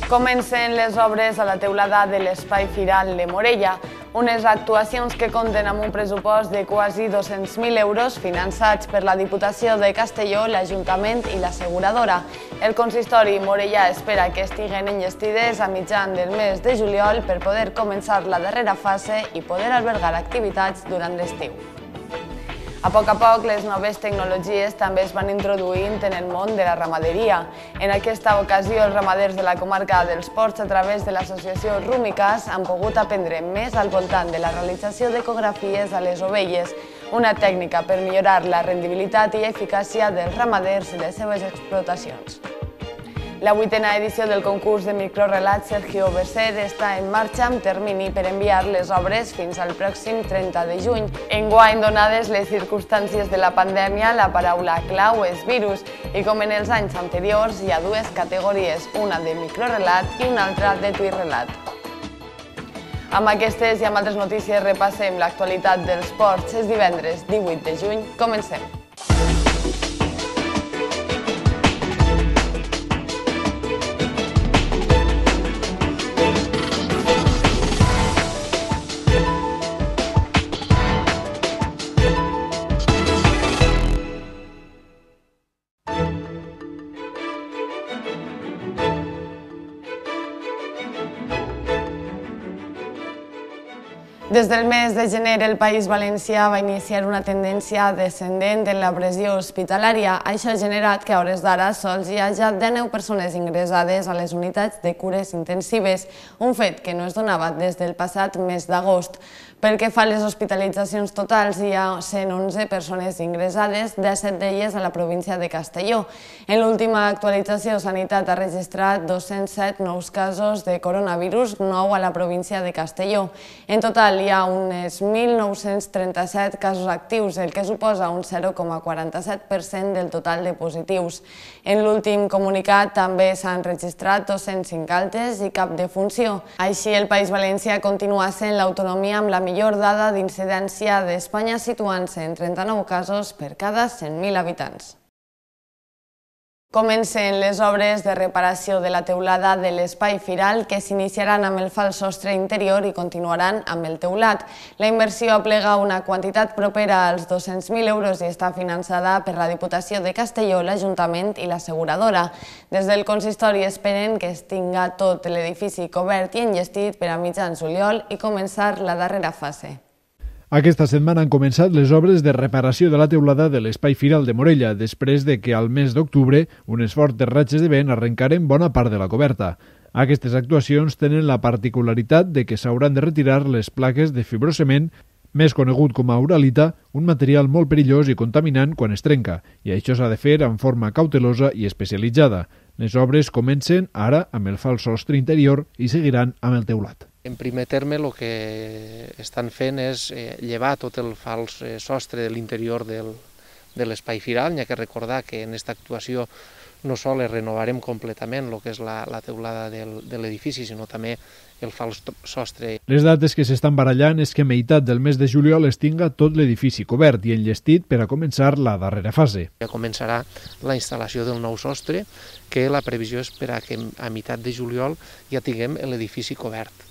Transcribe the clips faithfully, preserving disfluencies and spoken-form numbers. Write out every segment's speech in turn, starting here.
Comencen les obres a la teulada de l'Espai Firal de Morella, unes actuacions que compten amb un pressupost de quasi dos-cents mil euros finançats per la Diputació de Castelló, l'Ajuntament i l'asseguradora. El consistori morellà espera que estiguen enllestides a mitjan del mes de juliol per poder començar la darrera fase i poder albergar activitats durant l'estiu. A poc a poc, les noves tecnologies també es van introduint en el món de la ramaderia. En aquesta ocasió, els ramaders de la comarca dels Ports, a través de l'associació Rumicas, han pogut aprendre més al voltant de la realització d'ecografies a les ovelles, una tècnica per millorar la rendibilitat i eficàcia dels ramaders i les seves explotacions. La vuitena edició del concurs de microrelat Sergio Besser està en marxa amb termini per enviar les obres fins al pròxim trenta de juny. Enguany, donades les circumstàncies de la pandèmia, la paraula clau és virus i com en els anys anteriors hi ha dues categories, una de microrelat i una altra de tuitrelat. Amb aquestes i amb altres notícies repassem l'actualitat dels ports. És divendres divuit de juny. Comencem. Des del mes de gener, el País Valencià va iniciar una tendència descendent en la pressió hospitalària. Això ha generat que a hores d'ara sols hi hagi dinou persones ingressades a les unitats de cures intensives, un fet que no es donava des del passat mes d'agost. Pel que fa a les hospitalitzacions totals, hi ha cent onze persones ingressades, disset d'elles a la província de Castelló. En l'última actualització, Sanitat ha registrat dos-cents set nous casos de coronavirus, nou a la província de Castelló. En total, hi ha uns mil nou-cents trenta-set casos actius, el que suposa un zero coma quaranta-set per cent del total de positius. En l'últim comunicat també s'han registrat dos-cents cinc altes i cap defunció. Així, el País Valencià continua sent l'autonomia amb la millor dada d'incidència d'Espanya, situant-se en trenta-nou casos per cada cent mil habitants. Comencen les obres de reparació de la teulada de l'Espai Firal que s'iniciaran amb el fals sostre interior i continuaran amb el teulat. La inversió aplega una quantitat propera als dos-cents mil euros i està finançada per la Diputació de Castelló, l'Ajuntament i l'asseguradora. Des del consistori esperen que es tinga tot l'edifici cobert i enllestit per a mitjans juliol i començar la darrera fase. Aquesta setmana han començat les obres de reparació de la teulada de l'Espai Firal de Morella, després de que al mes d'octubre unes fortes ratxes de vent arrencaren bona part de la coberta. Aquestes actuacions tenen la particularitat de que s'hauran de retirar les plaques de fibrocement, més conegut com a uralita, un material molt perillós i contaminant quan es trenca, i això s'ha de fer en forma cautelosa i especialitzada. Les obres comencen ara amb el fals sostre interior i seguiran amb el teulat. En primer terme, el que estan fent és llevar tot el fals sostre de l'interior de l'Espai Firal. N'hi ha que recordar que en aquesta actuació no sols renovarem completament el que és la teulada de l'edifici, sinó també el fals sostre. Les dates que s'estan barallant és que a meitat del mes de juliol es tinga tot l'edifici cobert i enllestit per a començar la darrera fase. Ja començarà la instal·lació del nou sostre, que la previsió és per a que a meitat de juliol ja tinguem l'edifici cobert.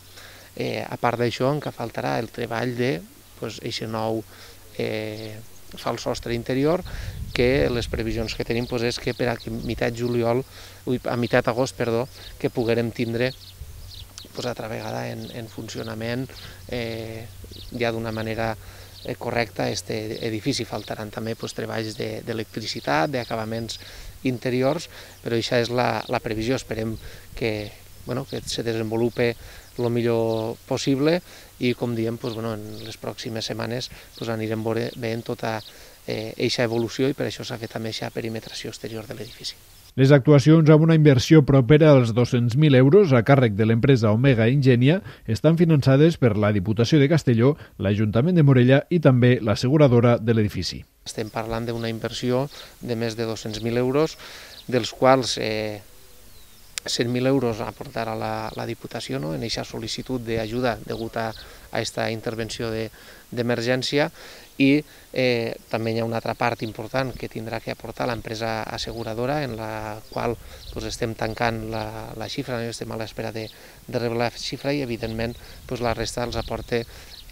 Eh, a part d'això, encara faltarà el treball de pues, eixe nou eh, fals sostre interior, que les previsions que tenim pues, és que per a meitat juliol, ui, a meitat agost, perdó, que poguérem tindre pues, altra vegada en, en funcionament eh, ja d'una manera eh, correcta aquest edifici. Faltaran també pues, treballs d'electricitat, de, d'acabaments interiors, però això és la, la previsió. Esperem que, bueno, que se desenvolupe el millor possible i, com diem, pues, bueno, en les pròximes setmanes pues, anirem veient tota aquesta eh, evolució i per això s'ha fet també aquesta perimetració exterior de l'edifici. Les actuacions amb una inversió propera als dos-cents mil euros a càrrec de l'empresa Omega Ingenia estan finançades per la Diputació de Castelló, l'Ajuntament de Morella i també l'asseguradora de l'edifici. Estem parlant d'una inversió de més de dos-cents mil euros, dels quals eh, cent mil euros a aportar a la, la Diputació, no?, en aquesta sol·licitud d'ajuda degut a aquesta intervenció d'emergència, i eh, també hi ha una altra part important que tindrà que aportar l'empresa asseguradora, en la qual pues, estem tancant la, la xifra, no? Estem a l'espera de, de rebre la xifra, i evidentment pues, la resta els aporta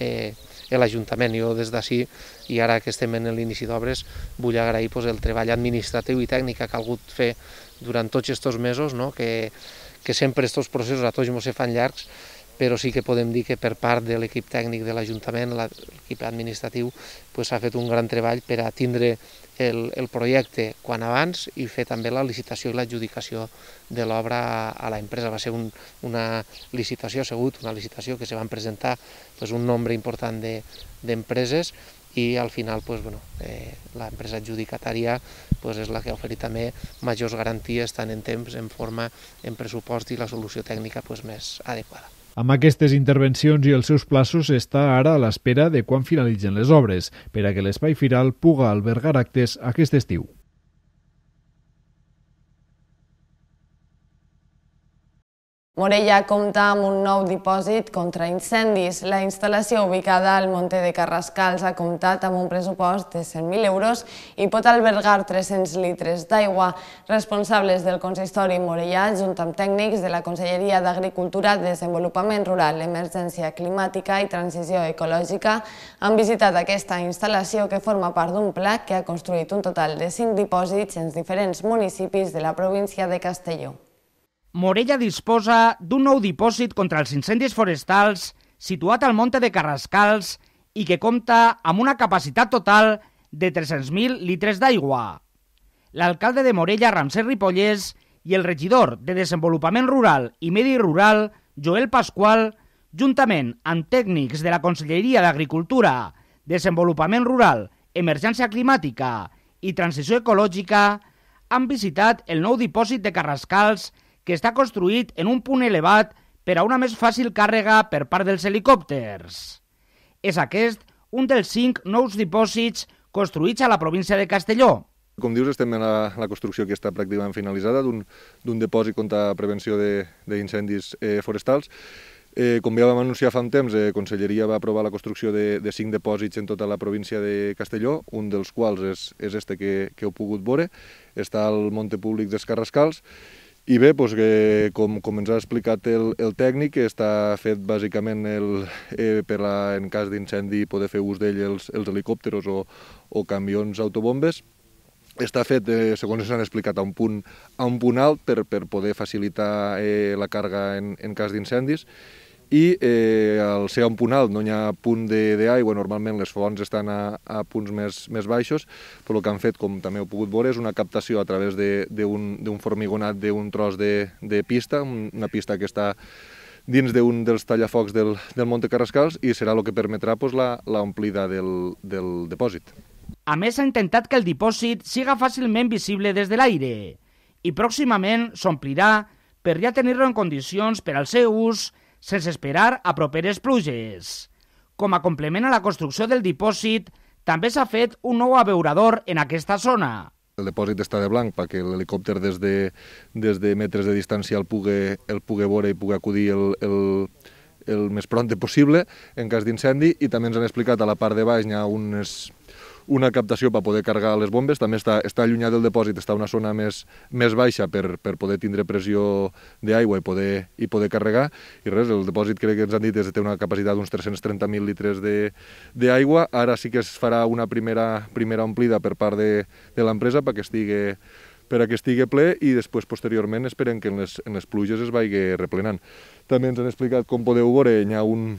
eh, l'Ajuntament. Jo des d'ací, i ara que estem en l'inici d'obres, vull agrair pues, el treball administratiu i tècnic que ha calgut fer durant tots aquests mesos, no? que, que sempre aquests processos a tots ens se fan llargs, però sí que podem dir que per part de l'equip tècnic de l'Ajuntament, l'equip administratiu, s'ha fet un gran treball per a tindre el, el projecte quan abans i fer també la licitació i l'adjudicació de l'obra a, a l'empresa. Va ser un, una licitació, ha sigut una licitació que se van presentar pues, un nombre important d'empreses, de, i al final pues, bueno, eh, l'empresa adjudicatària pues, és la que ha oferit també majors garanties tant en temps, en forma, en pressupost i la solució tècnica pues, més adequada. Amb aquestes intervencions i els seus plaços està ara a l'espera de quan finalitzen les obres, per a que l'espai firal puga albergar actes aquest estiu. Morella compta amb un nou dipòsit contra incendis. La instal·lació ubicada al Monte de Carrascals ha comptat amb un pressupost de cent mil euros i pot albergar tres-cents litres d'aigua. Responsables del consistori morellà, junt amb tècnics de la Conselleria d'Agricultura, Desenvolupament Rural, Emergència Climàtica i Transició Ecològica, han visitat aquesta instal·lació que forma part d'un pla que ha construït un total de cinc dipòsits en diferents municipis de la província de Castelló. Morella disposa d'un nou dipòsit contra els incendis forestals situat al Monte de Carrascals i que compta amb una capacitat total de tres-cents mil litres d'aigua. L'alcalde de Morella, Ramsès Ripollès, i el regidor de Desenvolupament Rural i Medi Rural, Joel Pasqual, juntament amb tècnics de la Conselleria d'Agricultura, Desenvolupament Rural, Emergència Climàtica i Transició Ecològica, han visitat el nou dipòsit de Carrascals que està construït en un punt elevat per a una més fàcil càrrega per part dels helicòpters. És aquest un dels cinc nous dipòsits construïts a la província de Castelló. Com dius, estem en la, la construcció que està pràcticament finalitzada d'un dipòsit contra prevenció d'incendis eh, forestals. Eh, com ja vam anunciar fa un temps, la eh, Conselleria va aprovar la construcció de, de cinc depòsits en tota la província de Castelló, un dels quals és, és este que, que heu pogut veure, està al Monte Públic dels Carrascals. I bé, doncs, que, com, com ens ha explicat el, el tècnic, està fet bàsicament el, eh, per a, en cas d'incendi poder fer ús d'ell els, els helicòpters o, o camions autobombes. Està fet, eh, segons ens han explicat, a un punt, a un punt alt per, per poder facilitar eh, la càrrega en, en cas d'incendis. I eh, al ser a un punt alt no hi ha punt d'aigua, normalment les fonts estan a, a punts més, més baixos, però el que han fet, com també heu pogut veure, és una captació a través d'un formigonat d'un tros de, de pista, una pista que està dins d'un dels tallafocs del, del Monte Carrascals, i serà el que permetrà pues, l'omplida del, del dipòsit. A més, ha intentat que el dipòsit siga fàcilment visible des de l'aire i pròximament s'omplirà per ja tenir-lo en condicions per al seu ús sense esperar a properes pluges. Com a complement a la construcció del dipòsit, també s'ha fet un nou abeurador en aquesta zona. El dipòsit està de blanc perquè l'helicòpter des, de, des de metres de distància el pugui, el pugui veure i pugui acudir el, el, el més prompte possible en cas d'incendi, i també ens han explicat a la part de baix hi ha unes, una captació per poder carregar les bombes. També està, està allunyat del dipòsit, està a una zona més, més baixa per, per poder tindre pressió d'aigua i poder, i poder carregar. I res, el dipòsit crec que ens han dit és que té una capacitat d'uns tres-cents trenta mil litres d'aigua. Ara sí que es farà una primera, primera omplida per part de, de l'empresa perquè estigui, per a que estigui ple, i després, posteriorment, esperem que en les, en les pluges es vagi replenant. També ens han explicat, com podeu veure, hi ha un...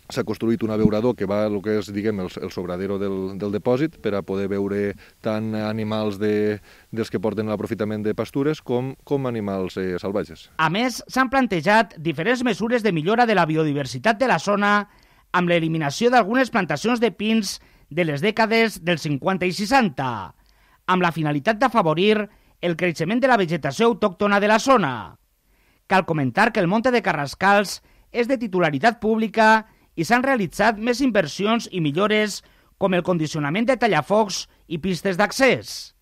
s'ha construït un abeurador que va el que és, diguem, el, el sobradero del, del dipòsit per a poder veure tant animals de, dels que porten l'aprofitament de pastures com, com animals eh, salvatges. A més, s'han plantejat diferents mesures de millora de la biodiversitat de la zona amb l'eliminació d'algunes plantacions de pins de les dècades del cinquanta i seixanta, amb la finalitat d'afavorir el creixement de la vegetació autòctona de la zona. Cal comentar que el Monte de Carrascals és de titularitat pública i s'han realitzat més inversions i millores com el condicionament de tallafocs i pistes d'accés.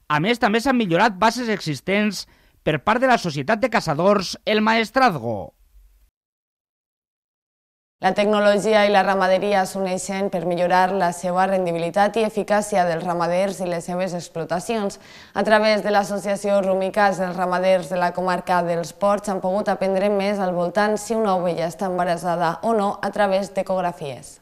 A més, també s'han millorat bases existents per part de la Societat de Caçadors El Maestrazgo. La tecnologia i la ramaderia s'uneixen per millorar la seva rendibilitat i eficàcia dels ramaders i les seves explotacions. A través de l'associació Rumicas, els ramaders de la comarca dels Ports han pogut aprendre més al voltant si una ovella està embarassada o no a través d'ecografies.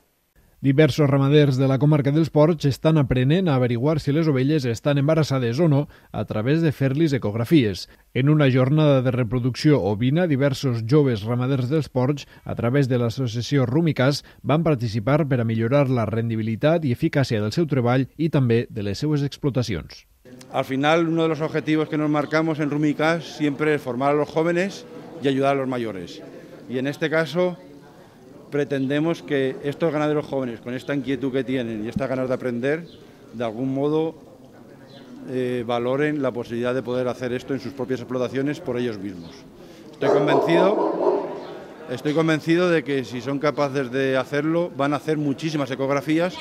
Diversos ramaders de la comarca dels Ports estan aprenent a averiguar si les ovelles estan embarassades o no a través de fer-los ecografies. En una jornada de reproducció ovina, diversos joves ramaders dels Ports, a través de l'associació Rumicas, van participar per a millorar la rendibilitat i eficàcia del seu treball i també de les seues explotacions. Al final, uno de los objetivos que nos marcamos en Rumicas siempre es formar a los jóvenes y ayudar a los mayores. Y en este caso pretendemos que estos ganaderos jóvenes, con esta inquietud que tienen y estas ganas de aprender, de algún modo eh, valoren la posibilidad de poder hacer esto en sus propias explotaciones por ellos mismos. Estoy convencido, estoy convencido de que si son capaces de hacerlo, van a hacer muchísimas ecografías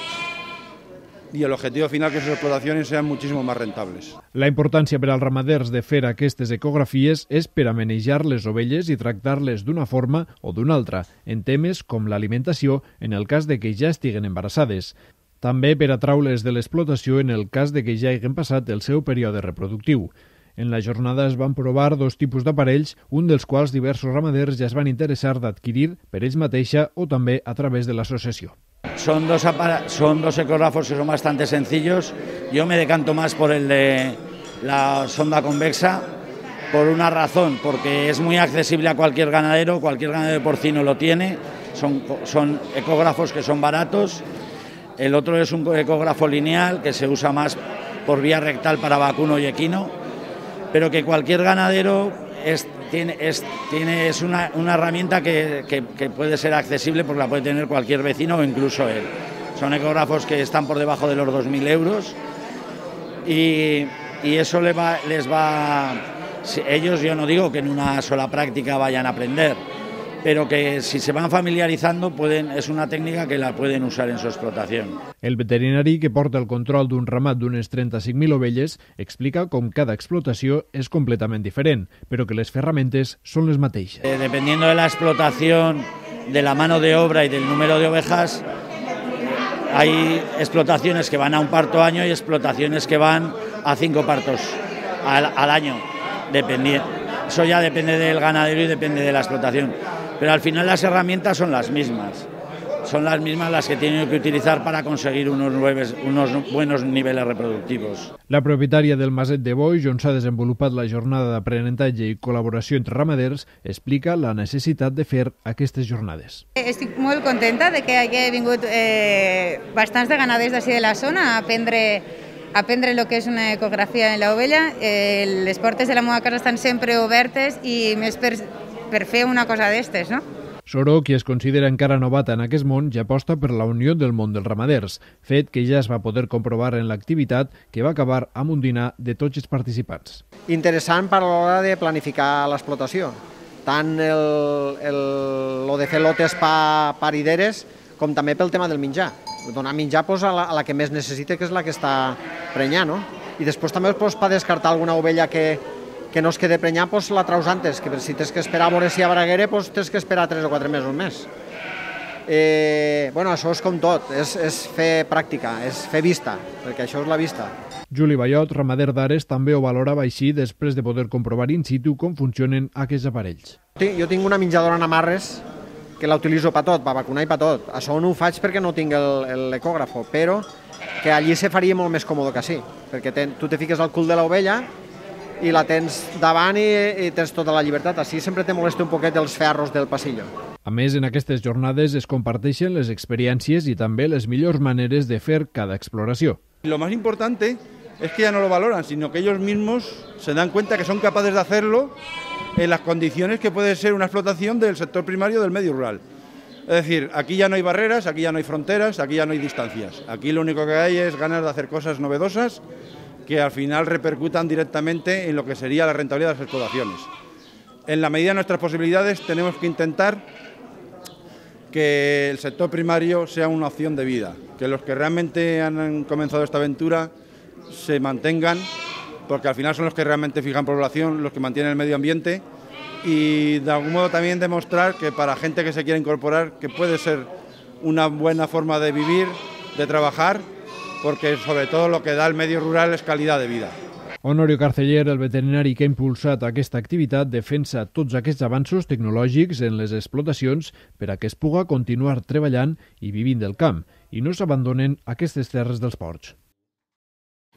i l'objectiu final que les explotacions sean muchísimo más rentables. La importància per als ramaders de fer aquestes ecografies és per a manejar les ovelles i tractar-les d'una forma o d'una altra, en temes com l'alimentació en el cas de que ja estiguen embarassades. També per a traules de l'explotació en el cas de que ja hagin passat el seu període reproductiu. En la jornada es van provar dos tipus d'aparells, un dels quals diversos ramaders ja es van interessar d'adquirir per ells mateixa o també a través de l'associació. Son dos, son dos ecógrafos que son bastante sencillos. Yo me decanto más por el de la sonda convexa por una razón, porque es muy accesible a cualquier ganadero, cualquier ganadero porcino lo tiene, son, son ecógrafos que son baratos. El otro es un ecógrafo lineal que se usa más por vía rectal para vacuno y equino, pero que cualquier ganadero es, tiene, es, tiene, es una, una herramienta que, que, que puede ser accesible porque la puede tener cualquier vecino o incluso él. Son ecógrafos que están por debajo de los dos mil euros y, y eso les va, les va... Ellos, yo no digo que en una sola práctica vayan a aprender, pero que si se van familiarizando pueden, es una técnica que la pueden usar en su explotación. El veterinari que porta el control d'un ramat d'unes trenta-cinc mil ovelles explica com cada explotació és completament diferent, però que les ferramentes són les mateixes. Eh, dependiendo de la explotación, de la mano de obra y del número de ovejas, hay explotaciones que van a un parto año y explotaciones que van a cinco partos al, al año. Dependiendo. Eso ya depende del ganadero y depende de la explotación. Pero al final las herramientas son las mismas. Son las mismas las que tienen que utilizar para conseguir unos, nueves, unos buenos niveles reproductivos. La propietària del Maset de Boix, on s'ha desenvolupat la jornada d'aprenentatge i col·laboració entre ramaders, explica la necessitat de fer aquestes jornades. Estic molt contenta de que hagi vingut eh, bastants de ganaders d'ací de la zona a aprendre aprendre el que és una ecografia en l'ovella. Eh, les portes de la meva casa estan sempre obertes i més per, per fer una cosa d'estes, no? Soro, qui es considera encara novata en aquest món, ja aposta per la unió del món dels ramaders, fet que ja es va poder comprovar en l'activitat que va acabar amb un dinar de tots els participants. Interessant per a l'hora de planificar l'explotació, tant el, el, lo de fer lotes pa, parideres com també pel tema del menjar. Donar menjar pues, a, la, a la que més necessita, que és la que està prenyant, no? I després també pues, per descartar alguna ovella que, que no es quede prenyar, pues, la traus antes, que si tens que esperar a veure si hi ha braguera, pues, tens que esperar tres o quatre mesos més. Eh, bueno, això és com tot, és, és fer pràctica, és fer vista, perquè això és la vista. Juli Ballot, ramader d'Ares, també ho valorava així després de poder comprovar in situ com funcionen aquests aparells. Jo tinc una menjadora en amarres que la utilitzo per tot, per vacunar i per tot. Això no ho faig perquè no tinc l'ecògrafo, però que allí se faria molt més còmode que així, perquè ten, tu te fiques al cul de l'ovella i la tens davant i, i tens tota la llibertat. Així sempre te molesta un poquet els ferros del passillo. A més, en aquestes jornades es comparteixen les experiències i també les millors maneres de fer cada exploració. Lo más importante es que ya no lo valoran, sino que ellos mismos se dan cuenta que son capaces de hacerlo en las condiciones que puede ser una explotación del sector primario del medio rural. Es decir, aquí ya no hay barreras, aquí ya no hay fronteras, aquí ya no hay distancias. Aquí lo único que hay es ganas de hacer cosas novedosas que al final repercutan directamente en lo que sería la rentabilidad de las explotaciones. En la medida de nuestras posibilidades tenemos que intentar que el sector primario sea una opción de vida, que los que realmente han comenzado esta aventura se mantengan, porque al final son los que realmente fijan población, los que mantienen el medio ambiente, y de algún modo también demostrar que para gente que se quiere incorporar, que puede ser una buena forma de vivir, de trabajar, porque sobre todo lo que da el medio rural es calidad de vida. Honorio Carceller, el veterinari que ha impulsat aquesta activitat, defensa tots aquests avanços tecnològics en les explotacions per a que es puga continuar treballant i vivint del camp i no s'abandonen aquestes terres dels ports.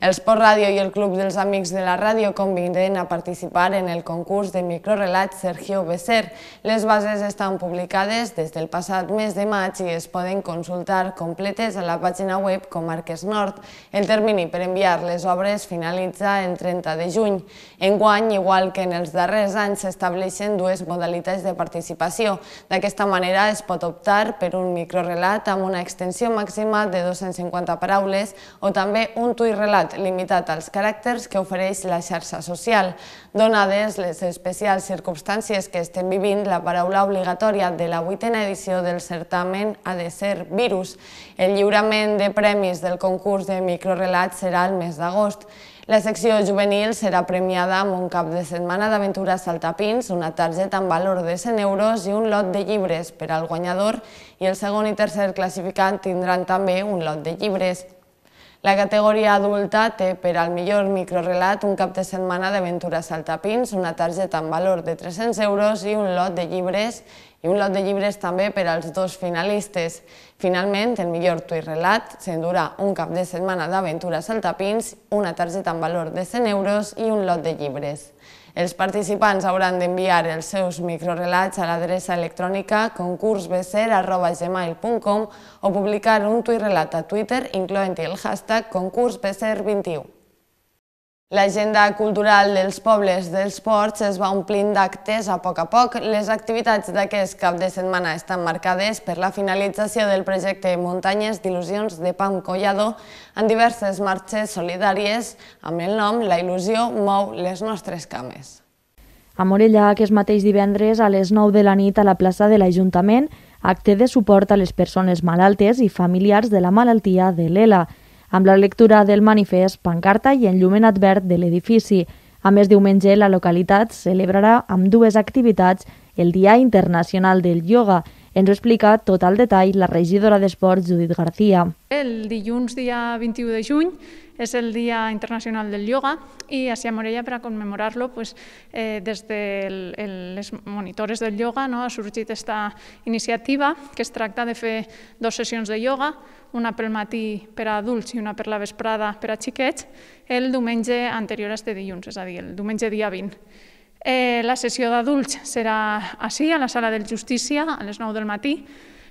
El Sport Ràdio i el Club dels Amics de la Ràdio conviden a participar en el concurs de microrelats Sergio Besser. Les bases estan publicades des del passat mes de maig i es poden consultar completes a la pàgina web Comarques Nord. El termini per enviar les obres finalitza el trenta de juny. Enguany, igual que en els darrers anys, s'estableixen dues modalitats de participació. D'aquesta manera es pot optar per un microrelat amb una extensió màxima de dos-cents cinquanta paraules o també un tuit relat limitat als caràcters que ofereix la xarxa social. Donades les especials circumstàncies que estem vivint, la paraula obligatòria de la vuitena edició del certamen ha de ser virus. El lliurament de premis del concurs de microrelats serà el mes d'agost. La secció juvenil serà premiada amb un cap de setmana d'aventures saltapins, una targeta amb valor de cent euros i un lot de llibres per al guanyador, i el segon i tercer classificat tindran també un lot de llibres. La categoria adulta té per al millor microrelat un cap de setmana d'aventures saltapins, una targeta amb valor de tres-cents euros i un lot de llibres, i un lot de llibres també per als dos finalistes. Finalment, el millor tuit relat s'endurà un cap de setmana d'aventures saltapins, una targeta amb valor de cent euros i un lot de llibres. Els participants hauran d'enviar els seus microrelats a l'adreça electrònica concursbesser arroba gmail punt com o publicar un tuit relat a Twitter incloent-hi el hashtag concursbesser vint i u. L'agenda cultural dels pobles dels ports es va omplint d'actes a poc a poc. Les activitats d'aquest cap de setmana estan marcades per la finalització del projecte Muntanyes d'il·lusions de Pam Collado en diverses marxes solidàries amb el nom La il·lusió mou les nostres cames. A Morella, aquest mateix divendres a les nou de la nit a la plaça de l'Ajuntament, acte de suport a les persones malaltes i familiars de la malaltia de l'ELA, amb la lectura del manifest, pancarta i enllumenat verd de l'edifici. A més, diumenge la localitat celebrarà amb dues activitats el Dia Internacional del Ioga. Ens ho explica tot al detall la regidora d'Esports, Judit García. El dilluns, dia vint-i-u de juny, és el Dia Internacional del Ioga i a Morella, per a commemorar-lo, pues, eh, des de les monitores del ioga no, ha sorgit aquesta iniciativa que es tracta de fer dues sessions de ioga, una pel matí per a adults i una per la vesprada per a xiquets, el diumenge anterior a este dilluns, és a dir, el diumenge dia vint. Eh, la sessió d'adults serà així, a la sala del Justícia, a les nou del matí.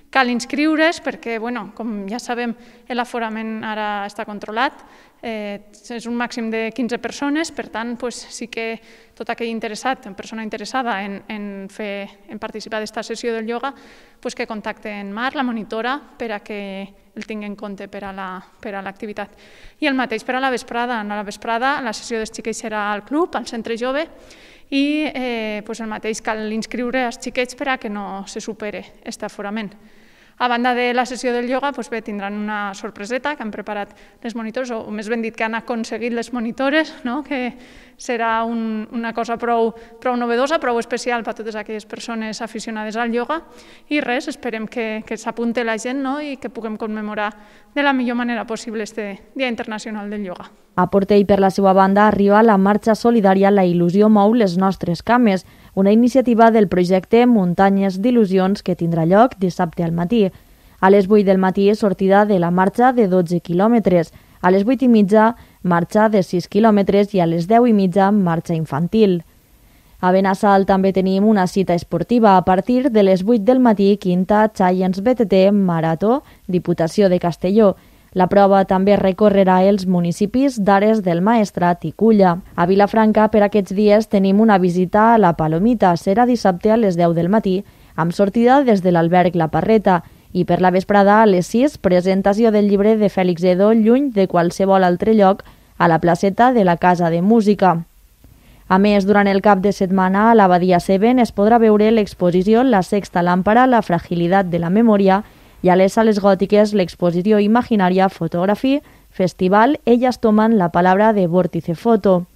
Cal inscriure's perquè, bueno, com ja sabem, l'aforament ara està controlat, eh, és un màxim de quinze persones, per tant, pues, sí que tot aquell interessat, persona interessada en, en, fer, en participar d'esta sessió del ioga, pues, que contacte en Mar, la monitora, per a que el tingui en compte per a l'activitat. I el mateix per a la vesprada. A la vesprada la sessió dels xiquets serà al club, al centre jove, i eh, pues el mateix cal inscriure els xiquets per a que no se supere aquest aforament. A banda de la sessió del ioga, doncs bé, tindran una sorpreseta que han preparat les monitores, o més ben dit que han aconseguit les monitores, no? Que serà un, una cosa prou, prou novedosa, prou especial per a totes aquelles persones aficionades al ioga. I res, esperem que, que s'apunte la gent, no? I que puguem commemorar de la millor manera possible este Dia Internacional del Ioga. A Portell, per la seva banda, arriba la marxa solidària La il·lusió mou les nostres cames, una iniciativa del projecte Muntanyes d'il·lusions que tindrà lloc dissabte al matí. A les vuit del matí és sortida de la marxa de dotze quilòmetres, a les vuit i mitja marxa de sis quilòmetres i a les deu i mitja marxa infantil. A Benassal també tenim una cita esportiva. A partir de les vuit del matí, quinta Giants B T T Marató, Diputació de Castelló. La prova també recorrerà els municipis d'Ares del Maestrat i Culla. A Vilafranca, per aquests dies, tenim una visita a la Palomita. Serà dissabte a les deu del matí, amb sortida des de l'alberg La Parreta. I per la vesprada, a les sis, presentació del llibre de Fèlix Edo, lluny de qualsevol altre lloc, a la placeta de la Casa de Música. A més, durant el cap de setmana, a l'Abadia Seven es podrà veure l'exposició La sexta lámpara, la fragilitat de la memòria, i a les sales gòtiques l'exposició imaginària Photography Festival Ellas toman la palabra de Vórtice Foto.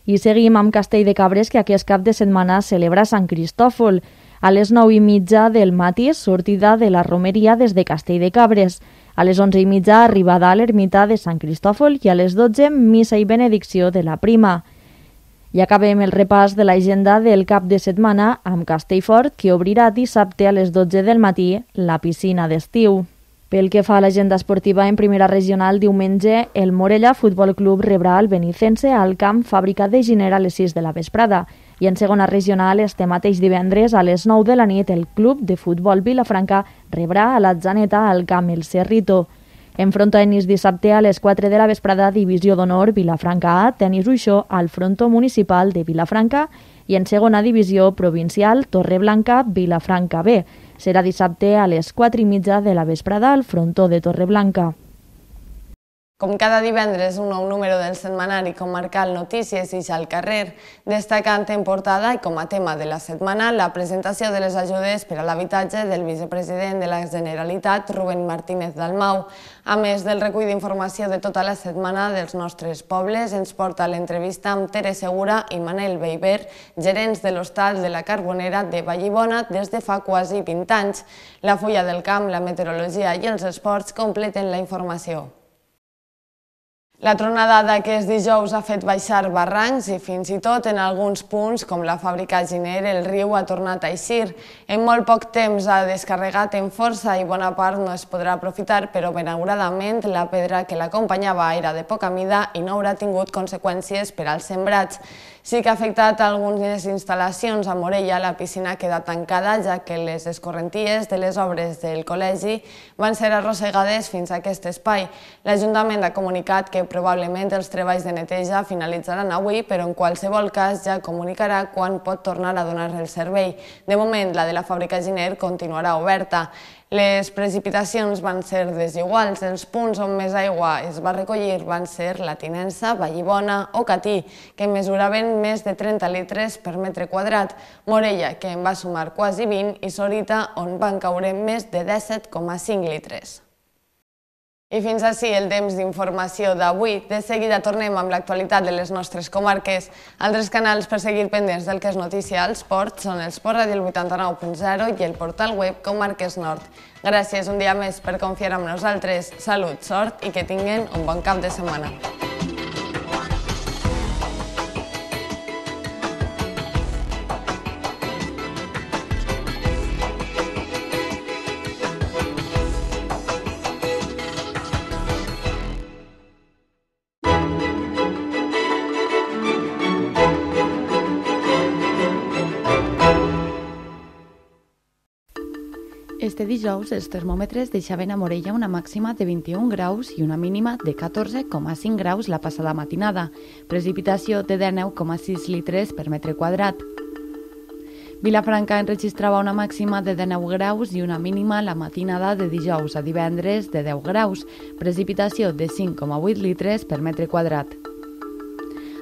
I seguim amb Castell de Cabres, que aquest cap de setmana celebra Sant Cristòfol. A les nou i mitja del matí, sortida de la romeria des de Castell de Cabres. A les onze i mitja, arribada a l'ermita de Sant Cristòfol i a les dotze, missa i benedicció de la prima. I acabem el repàs de l'agenda del cap de setmana amb Castellfort, que obrirà dissabte a les dotze del matí la piscina d'estiu. Pel que fa a l'agenda esportiva, en primera regional, diumenge, el Morella Futbol Club rebrà el Benicense al camp Fàbrica de Giner a les sis de la vesprada. I en segona regional, este mateix divendres, a les nou de la nit, el Club de Futbol Vilafranca rebrà a l'Atzaneta al camp El Cerrito. En frontenis dissabte, a les quatre de la vesprada, Divisió d'Honor Vilafranca A, Tenis Uixó al Frontó Municipal de Vilafranca i en segona divisió provincial, Torreblanca Vilafranca B. Serà dissabte a les quatre i mitja de la vesprada al Frontó de Torreblanca. Com cada divendres, un nou número del setmanari comarcal Notícies ix al carrer, destacant en portada i com a tema de la setmana la presentació de les ajudes per a l'habitatge del vicepresident de la Generalitat, Rubén Martínez Dalmau. A més del recull d'informació de tota la setmana dels nostres pobles, ens porta l'entrevista amb Tere Segura i Manel Beiber, gerents de l'hostal de la Carbonera de Vallibona des de fa quasi vint anys. La fulla del camp, la meteorologia i els esports completen la informació. La tronada d'aquest dijous ha fet baixar barrancs i fins i tot en alguns punts, com la fàbrica Giner, el riu ha tornat a eixir. En molt poc temps ha descarregat en força i bona part no es podrà aprofitar, però benauradament la pedra que l'acompanyava era de poca mida i no haurà tingut conseqüències per als sembrats. Sí que ha afectat algunes instal·lacions a Morella, la piscina queda tancada, ja que les escorrenties de les obres del col·legi van ser arrossegades fins a aquest espai. L'Ajuntament ha comunicat que probablement els treballs de neteja finalitzaran avui, però en qualsevol cas ja comunicarà quan pot tornar a donar el servei. De moment, la de la fàbrica Giner continuarà oberta. Les precipitacions van ser desiguals. Els punts on més aigua es va recollir van ser la Tinença, Vallibona o Catí, que mesuraven més de trenta litres per metre quadrat, Morella, que en va sumar quasi vint, i Sorita, on van caure més de disset coma cinc litres. I fins ací el temps d'informació d'avui. De seguida tornem amb l'actualitat de les nostres comarques. Altres canals per seguir pendents del que és notícia al esport són el Sport Ràdio vuitanta-nou punt zero i el portal web Comarques Nord. Gràcies un dia més per confiar en nosaltres. Salut, sort i que tinguen un bon cap de setmana. Este dijous, els termòmetres deixaven a Morella una màxima de vint-i-un graus i una mínima de catorze coma cinc graus la passada matinada, precipitació de dinou coma sis litres per metre quadrat. Vilafranca enregistrava una màxima de dinou graus i una mínima la matinada de dijous a divendres de deu graus, precipitació de cinc coma vuit litres per metre quadrat.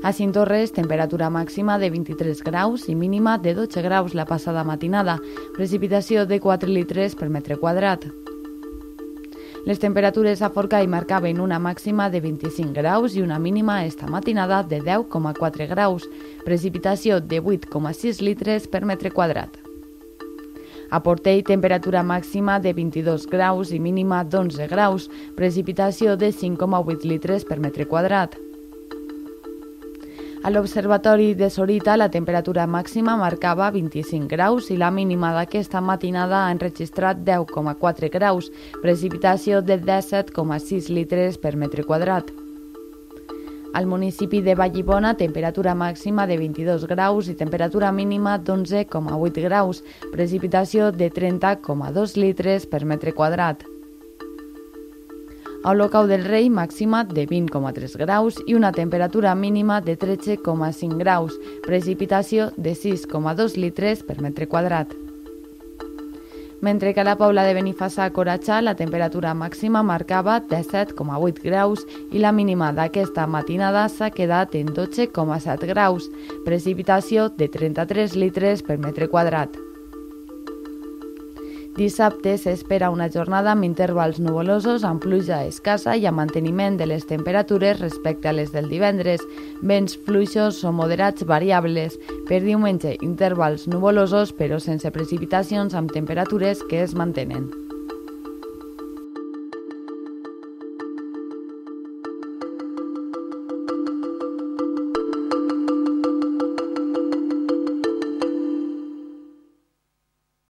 A Cinctorres, temperatura màxima de vint-i-tres graus i mínima de dotze graus la passada matinada, precipitació de quatre litres per metre quadrat. Les temperatures a Forcall marcaven una màxima de vint-i-cinc graus i una mínima esta matinada de deu coma quatre graus, precipitació de vuit coma sis litres per metre quadrat. A Portell, temperatura màxima de vint-i-dos graus i mínima d'onze graus, precipitació de cinc coma vuit litres per metre quadrat. A l'Observatori de Sorita, la temperatura màxima marcava vint-i-cinc graus i la mínima d'aquesta matinada ha enregistrat deu coma quatre graus, precipitació de disset coma sis litres per metre quadrat. Al municipi de Vallibona, temperatura màxima de vint-i-dos graus i temperatura mínima d'onze coma vuit graus, precipitació de trenta coma dos litres per metre quadrat. A Olocau del Rei, màxima de vint coma tres graus i una temperatura mínima de tretze coma cinc graus, precipitació de sis coma dos litres per metre quadrat. Mentre que a la Pobla de Benifassà a Coratxà la temperatura màxima marcava disset coma vuit graus i la mínima d'aquesta matinada s'ha quedat en dotze coma set graus, precipitació de trenta-tres litres per metre quadrat. Dissabte s'espera una jornada amb intervals nuvolosos, amb pluja escassa i amb manteniment de les temperatures respecte a les del divendres, vents fluixos o moderats variables. Per diumenge, intervals nuvolosos però sense precipitacions amb temperatures que es mantenen.